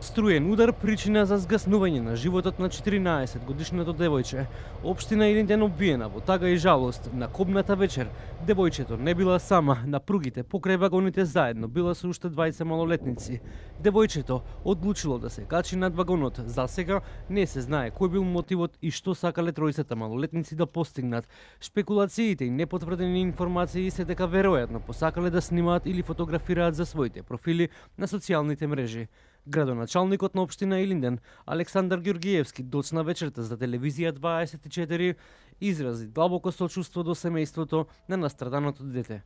Струен удар причина за згаснување на животот на 14-годишното девојче. Општина Илинден обвиена во тага и жалост. На кобната вечер девојчето не била сама, на пругите покрај вагоните заедно била со уште 20 малолетници. Девојчето одлучило да се качи над вагонот. За сега не се знае кој бил мотивот и што сакале тројцата малолетници да постигнат. Шпекулациите и непотврдени информации се дека веројатно посакале да снимаат или фотографираат за своите профили на социјалните мрежи. Градоначалникот на општина Илинден, Александар Ѓоргиевски, доцна вечерта за телевизија 24, изрази длабоко сочувство до семејството на настраданото дете.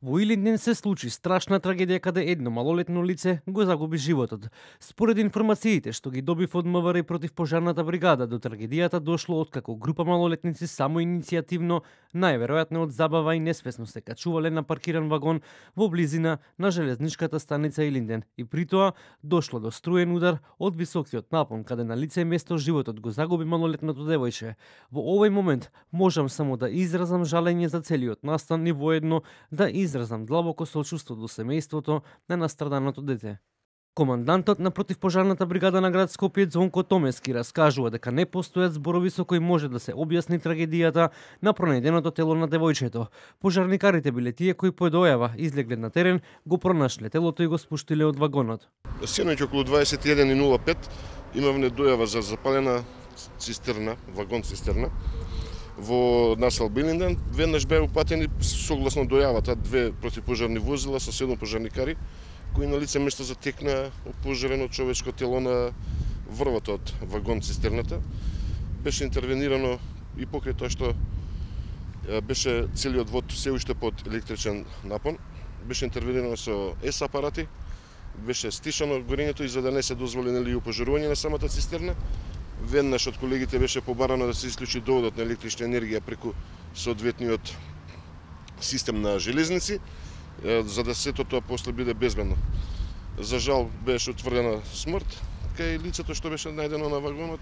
Во Илинден се случи страшна трагедија каде едно малолетно лице го загуби животот. Според информациите што ги добив од МВР и противпожарната бригада, до трагедијата дошло откако група малолетници самоиницијативно, најверојатно од забава и несвесно се качувале на паркиран вагон во близина на железничката станица Илинден и при тоа дошло до струен удар од високиот напон каде на лице место животот го загуби малолетното девојче. Во овој момент можам само да изразам жалење за целиот настан и воедно да изразам длабоко сочувство до семејството на настраданото дете. Командантот на противпожарната бригада на град Скопје Звонко Томески раскажува дека не постојат зборови со кои може да се објасни трагедијата на пронајденото тело на девојчето. Пожарникарите биле тие кои по дојава излегле на терен, го пронашле телото и го спуштиле од вагонот. Синоќ околу 21:05 имавме дојава за запалена цистерна, вагон цистерна во населба Илинден. Веднаш беа упатени согласно дојавата 2 противпожарни возила со 7 пожарникари кои на лице место затекна опожарено човечко тело на врвот од вагон цистерната. Беше интервенирано и покрај тоа што беше целиот вод се уште под електричен напон. Беше интервенирано со ес апарати, беше стишано горењето и за да не се дозволи опожарување на самата цистерна. Веднаш од колегите беше побарано да се исклучи доводот на електрична енергија преку соодветниот систем на железници, за да сето тоа после биде безбедно. За жал беше утврдена смрт кај лицето што беше најдено на вагонот.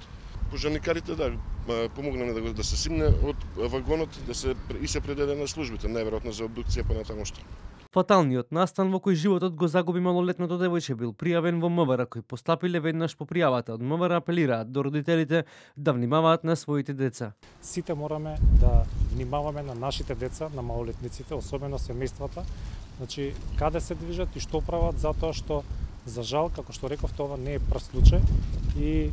Пожарникарите помогнале да се симне од вагонот, и се предаде на службите, најверојатно за обдукција понатамошта. Фаталниот настан во кој животот го загуби малолетното девојче бил пријавен во МВР, кои постапиле веднаш по пријавата. Од МВР апелираат до родителите да внимаваат на своите деца. Сите мораме да внимаваме на нашите деца, на малолетниците, особено семејствата. Значи, каде се движат и што прават, затоа што за жал, како што реков, тоа не е прв случај и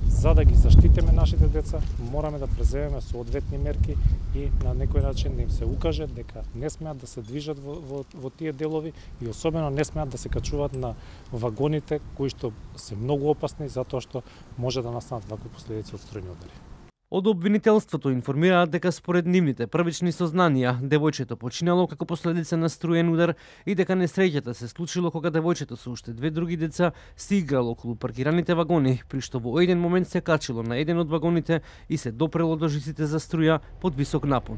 за да ги заштитиме нашите деца, мораме да преземеме соодветни мерки и на некој начин да им се укаже дека не смеат да се движат во тие делови и особено не смеат да се качуваат на вагоните кои што се многу опасни затоа што може да настанат вакви последици од струени удари. Од обвинителството информираат дека според нивните првични сознанија, девојчето починало како последица на струен удар и дека несреќата се случило кога девојчето со уште 2 други деца се играло околу паркираните вагони, при што во еден момент се качило на еден од вагоните и се допрело до жиците за струја под висок напон.